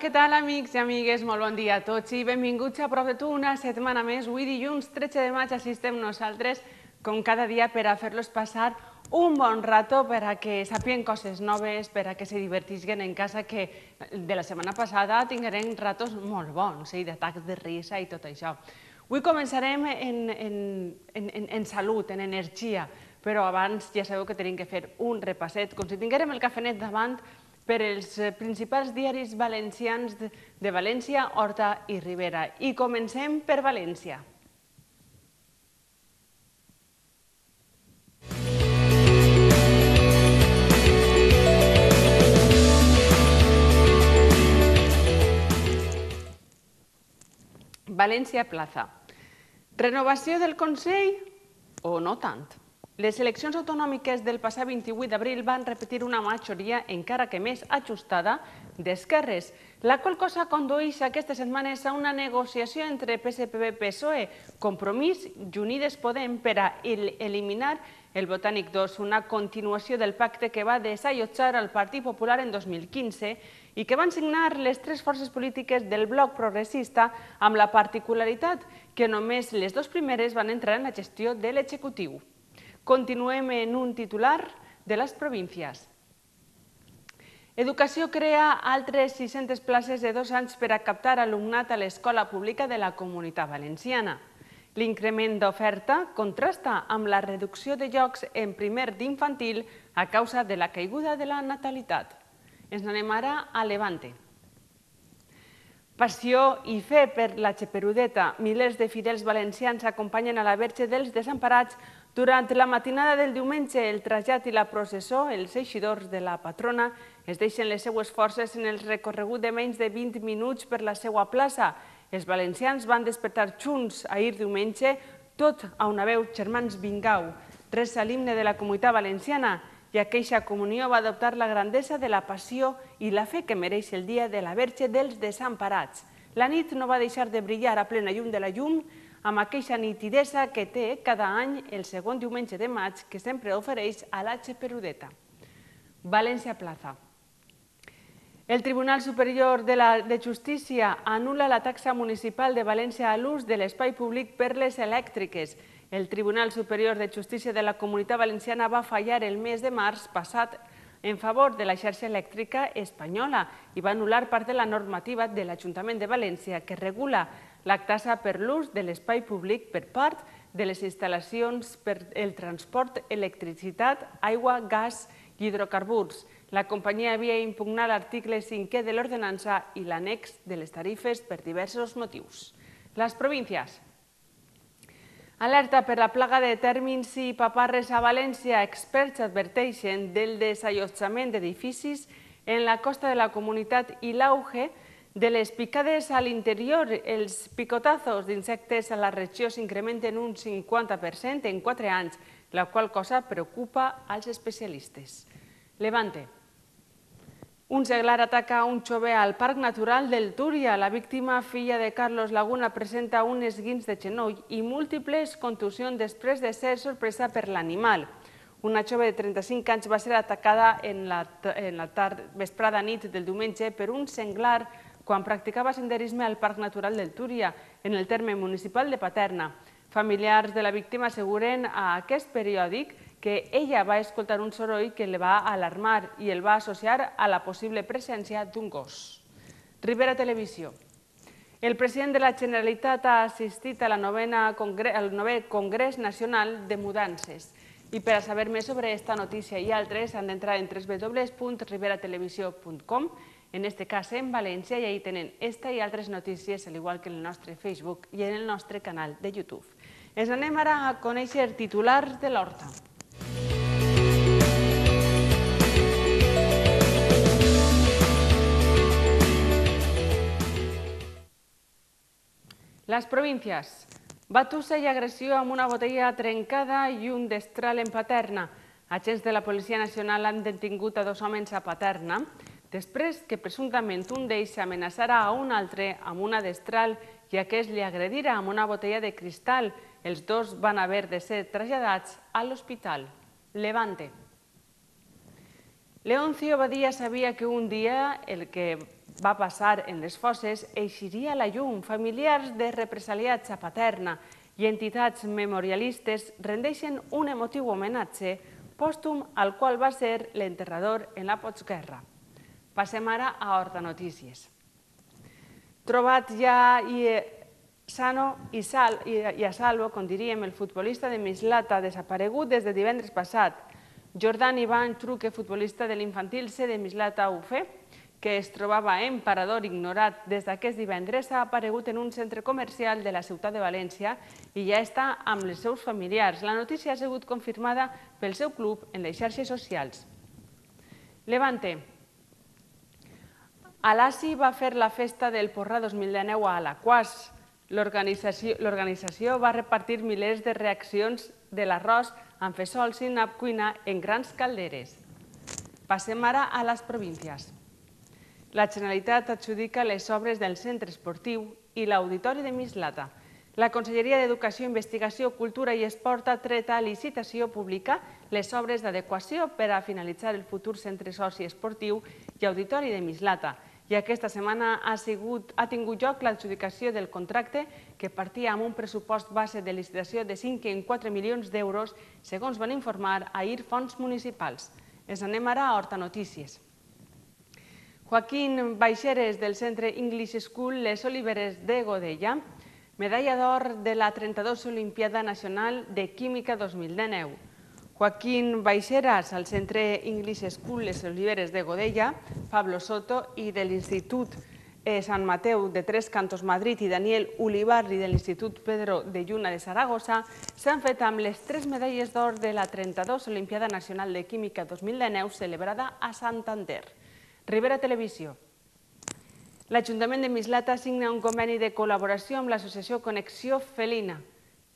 què tal, amics i amigues? Molt bon dia a tots i benvinguts a Prop de tu una setmana més. Avui dilluns 13 de maig assistem nosaltres, com cada dia, per a fer-los passar un bon rato, per a que sàpiguen coses noves, per a que se divertisquen en casa, que de la setmana passada tingueren ratos molt bons, d'atacs de risa i tot això. Avui començarem en salut, en energia, però abans ja sabeu que tenim que fer un repasset, com si tinguérem el cafenet davant, per els principals diaris valencians de València, Horta i Ribera. I comencem per València. València Plaza. Renovació del Consell o no tant? Les eleccions autonòmiques del passat 28 d'abril van repetir una majoria encara que més ajustada d'esquerres, la qual cosa condueix aquestes setmanes a una negociació entre PSPB-PSOE, Compromís i Unides Podem per a eliminar el Botànic 2, una continuació del pacte que va desallotjar el Partit Popular en 2015 i que van signar les tres forces polítiques del bloc progressista, amb la particularitat que només les dues primeres van entrar en la gestió de l'executiu. Continuem en un titular de les províncies. Educació crea altres 600 places de 2 anys per a captar alumnat a l'escola pública de la Comunitat Valenciana. L'increment d'oferta contrasta amb la reducció de llocs en primer d'infantil a causa de la caiguda de la natalitat. Ens n'anem ara a Levante. Passió i fe per la Xeperudeta. Milers de fidels valencians acompanyen a la Verge dels Desemparats durant la matinada del diumenge. El trasllat i la processó, els eixidors de la patrona, es deixen les seues forces en el recorregut de menys de 20 minuts per la seva plaça. Els valencians van despertar junts ahir diumenge, tot a una veu, germans vingau. Resa l'himne de la Comunitat Valenciana i aqueixa comunió va adoptar la grandesa de la passió i la fe que mereix el dia de la Verge dels Desemparats. La nit no va deixar de brillar a plena llum de la llum, amb aqueixa nitidesa que té cada any el segon diumenge de maig que sempre ofereix a la Xeperudeta. València Plaza. El Tribunal Superior de Justícia anul·la la taxa municipal de València a l'ús de l'espai públic per les elèctriques. El Tribunal Superior de Justícia de la Comunitat Valenciana va fallar el mes de març passat en favor de la xarxa elèctrica espanyola i va anul·lar part de la normativa de l'Ajuntament de València que regula la taxa per l'ús de l'espai públic per part de les instal·lacions per el transport, electricitat, aigua, gas i hidrocarburs. La companyia havia impugnat l'article 5è de l'ordenança i l'annex de les tarifes per diversos motius. Les províncies. Alerta per la plaga de tèrmins i paparres a València. Experts adverteixen del desallotjament d'edificis en la costa de la comunitat i l'auge de les picades a l'interior. Els picotazos d'insectes a la regió s'incrementen un 50% en 4 anys, la qual cosa preocupa als especialistes. Levante. Un seglar ataca un jove al Parc Natural del Túria. La víctima, filla de Carlos Laguna, presenta un esguins de genoll i múltiples contusions després de ser sorpresa per l'animal. Una jove de 35 anys va ser atacada en la vesprada nit del diumenge per un senglar quan practicava senderisme al Parc Natural del Túria, en el terme municipal de Paterna. Familiars de la víctima asseguren a aquest periòdic que ella va escoltar un soroll que la va alarmar i el va associar a la possible presència d'un gos. Ribera Televisió. El president de la Generalitat ha assistit al 9è Congrés Nacional de Mudances. I per a saber més sobre aquesta notícia i altres han d'entrar en www.riberatelevisió.com, en aquest cas en València, i ahí tenen esta i altres notícies, al igual que en el nostre Facebook i en el nostre canal de YouTube. Ens anem ara a conèixer titulars de l'Horta. Les províncies. Batussa i agressió amb una botella trencada i un destral en Paterna. Agents de la Policia Nacional han detingut a 2 homes a Paterna després que presumptament un d'ells amenaçara a un altre amb una destral i aquest li agredira amb una botella de cristal. Els dos van haver de ser traslladats a l'hospital. Levante. Leoncio Badía sabía que un día el que va passar en les fosses, eixiria a la llum. Familiars de represaliats a Paterna i entitats memorialistes rendeixen un emotiu homenatge pòstum al qual va ser l'enterrador en la postguerra. Passem ara a Horta Notícies. Trobat ja sano i a salvo, com diríem, el futbolista de Mislata, desaparegut des de divendres passat. Jordan Ivan Truque, futbolista de l'infantil C de Mislata UF, que es trobava en parador ignorat des d'aquest divendres, ha aparegut en un centre comercial de la ciutat de València i ja està amb els seus familiars. La notícia ha sigut confirmada pel seu club en les xarxes socials. Levante. Alassi va fer la festa del Porrà 2019 a Alaquàs. L'organització va repartir milers de reaccions de l'arròs amb fesols i nap cuina en grans calderes. Passem ara a les províncies. La Generalitat adjudica les obres del centre esportiu i l'auditori de Mislata. La Conselleria d'Educació, Investigació, Cultura i Esport ha tret a licitació pública les obres d'adequació per a finalitzar el futur centre soci esportiu i auditori de Mislata. I aquesta setmana ha tingut lloc l'adjudicació del contracte que partia amb un pressupost base de licitació de 5,4 milions d'euros, segons van informar ahir fonts municipals. Ens anem ara a Horta Notícies. Joaquín Baixeres, del Centre English School Les Oliveres de Godella, medalla d'or de la 32 Olimpiada Nacional de Química 2019. Joaquín Baixeras, al Centre English School Les Oliveres de Godella, Pablo Soto i de l'Institut Sant Mateu de Tres Cantos Madrid i Daniel Ulibarri de l'Institut Pedro de Lluna de Saragossa s'han fet amb les 3 medalles d'or de la 32 Olimpiada Nacional de Química 2019 celebrada a Santander. Ribera Televisió. L'Ajuntament de Mislata signa un conveni de col·laboració amb l'associació Connexió Felina.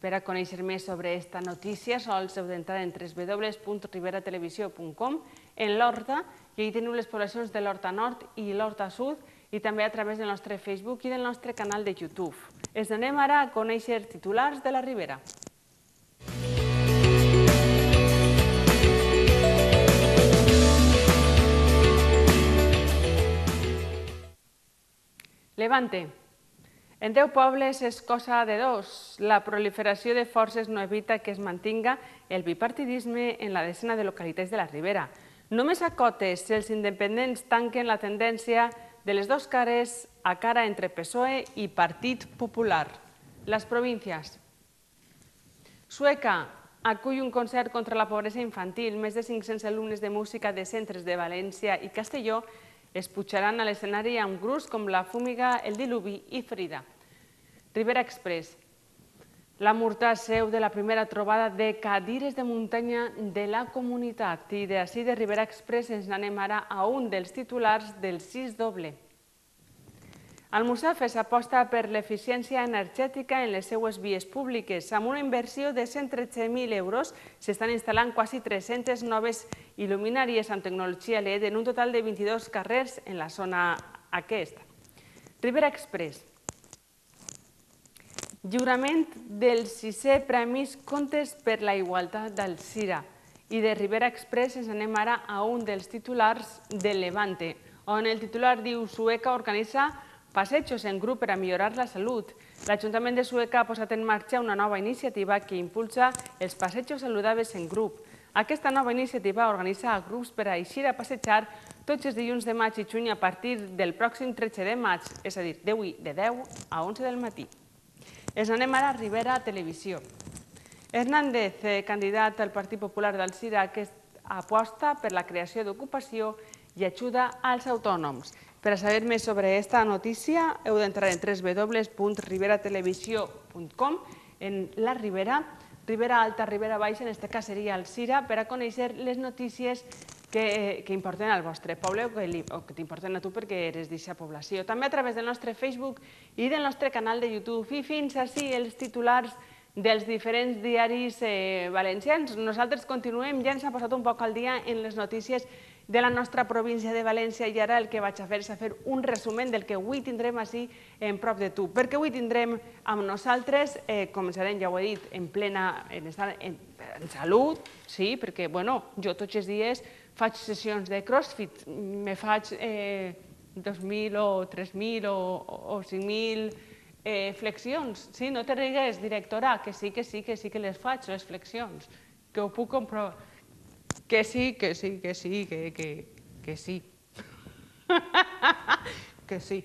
Per a conèixer més sobre aquesta notícia, sols heu d'entrar en www.riberatelevisió.com, en l'Horta, i ahí teniu les poblacions de l'Horta Nord i l'Horta Sud, i també a través del nostre Facebook i del nostre canal de YouTube. Ens anem ara a conèixer titulars de la Ribera. Levante. En 10 pobles és cosa de dos. La proliferació de forces no evita que es mantinga el bipartidisme en la desena de localitats de la Ribera. Només a Cotes els independents tanquen la tendència de les dues cares a cara entre PSOE i Partit Popular. Les províncies. Sueca acull un concert contra la pobresa infantil. Més de 500 alumnes de música de centres de València i Castelló es pujaran a l'escenari amb grups com La Fúmiga, El Diluvi i Frida. Ribera Express. La Murtà, seu de la primera trobada de cadires de muntanya de la comunitat. I d'ací de Ribera Express ens anem ara a un dels titulars del 6 doble. Almussafes aposta per l'eficiència energètica en les seues vies públiques. Amb una inversió de 113.000 euros s'estan instal·lant quasi 300 noves il·luminàries amb tecnologia LED en un total de 22 carrers en la zona aquesta. Ribera Express. Lliurament dels 6è Premis Contes per la Igualtat d'Alzira. I de Ribera Express ens anem ara a un dels titulars de Levante, on el titular diu Sueca organitza passejos en grup per a millorar la salut. L'Ajuntament de Sueca ha posat en marxa una nova iniciativa que impulsa els passejos saludables en grup. Aquesta nova iniciativa organitza grups per a eixir a passejar tots els dilluns de maig i juny a partir del pròxim 13 de maig, és a dir, de 10 a 11 del matí. Ens anem ara a Ribera Televisió. Hernández, candidat al Partit Popular d'Alzira, que aposta per la creació d'ocupació i ajuda als autònoms. Per a saber més sobre aquesta notícia heu d'entrar en www.riberatelevisió.com, en la Ribera, Ribera Alta, Ribera Baixa, en aquest cas seria Alzira, per a conèixer les notícies que importen al vostre poble o que t'importen a tu perquè eres d'aquesta població. També a través del nostre Facebook i del nostre canal de YouTube. I fins així els titulars dels diferents diaris valencians. Nosaltres continuem, ja ens ha posat un poc al dia en les notícies de la nostra província de València i ara el que vaig a fer és fer un resumen del que avui tindrem així en prop de tu. Perquè avui tindrem amb nosaltres, començarem, ja ho he dit, en plena en salut, sí, perquè jo tots els dies faig sessions de crossfit, me faig 2.000 o 3.000 o 5.000 flexions. Sí, no te rigues, directora, que sí que les faig, les flexions, que ho puc comprovar. Que sí. Que sí. Que sí.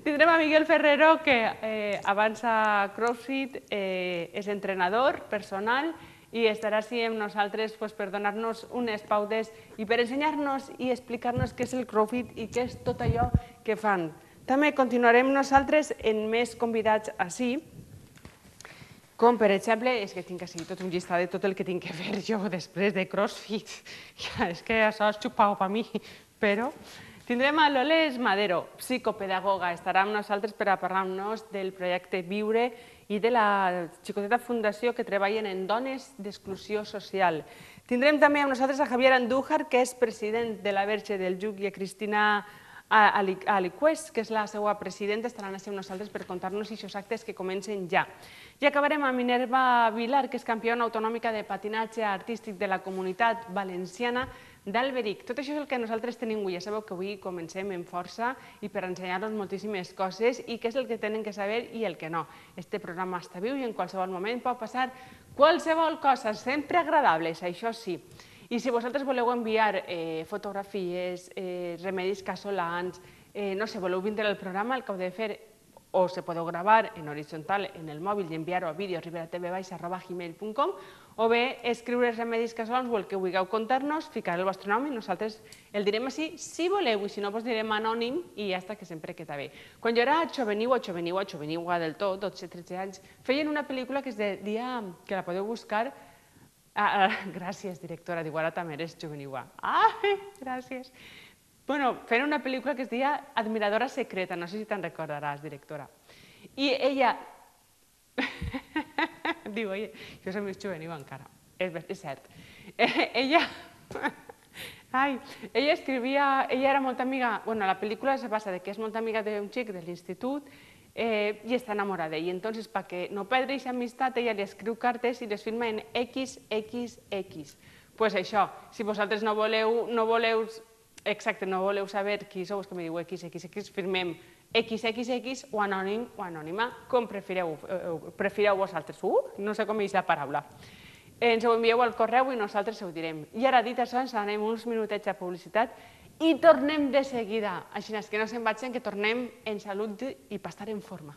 Tindrem a Miguel Ferrero, que abans a CrossFit és entrenador personal i estarà així amb nosaltres per donar-nos unes pautes i per ensenyar-nos i explicar-nos què és el CrossFit i què és tot allò que fan. També continuarem nosaltres amb més convidats així, com per exemple, és que tinc així tot un llistat de tot el que tinc que fer jo després de CrossFit. És que això és xupau per mi, però... Tindrem a Loles Madero, psicopedagoga, estarà amb nosaltres per a parlar-nos del projecte Viure i de la xicoteta fundació que treballen en dones d'exclusió social. Tindrem també amb nosaltres a Javier Andújar, que és president de la Verge del Lluc, i a Cristina Alicués, que és la seva presidenta, estaran així amb nosaltres per contar-nos aquests actes que comencen ja. I acabarem amb Minerva Vilar, que és campiona autonòmica de patinatge artístic de la Comunitat Valenciana d'Alberic. Tot això és el que nosaltres tenim avui. Ja sabeu que avui comencem amb força i per ensenyar-nos moltíssimes coses i què és el que tenen que saber i el que no. Este programa està viu i en qualsevol moment pot passar qualsevol cosa, sempre agradables, això sí. I si vosaltres voleu enviar fotografies, remedis casolans, no sé, voleu vindre al programa, el que heu de fer o se podeu gravar en horitzontal en el mòbil i enviar-ho a videoribera.tv@gmail.com o bé escriure remedis casolans o el que vulgueu contar-nos, ficar el vostre nom i nosaltres el direm així si voleu i si no, doncs direm anònim i ja està, que sempre queda bé. Quan jo era joveniua del tot, 12-13 anys, feien una pel·lícula que es deia, que la podeu buscar, gràcies, directora, diu, ara també eres joveniua. Gràcies. Bueno, feien una pel·lícula que es deia Admiradora secreta, no sé si te'n recordaràs, directora. I ella... Diu, jo soc més juvenil encara, és cert. Ella escrivia, ella era molt amiga, bueno, la pel·lícula se basa que és molt amiga d'un xic de l'institut i està enamorada. I entonces, perquè no perdre aquesta amistat, ella li escriu cartes i les firma en XXX. Doncs això, si vosaltres no voleu exacte, no voleu saber qui sou, és que me diu XXX, firmem XXX o anònim o anònima, com prefireu vosaltres. No sé com és la paraula. Ens ho envieu al correu i nosaltres ho direm. I ara, dit això, ens anem uns minutets a publicitat i tornem de seguida. Així que no se'n vagin, que tornem en salut i per estar en forma.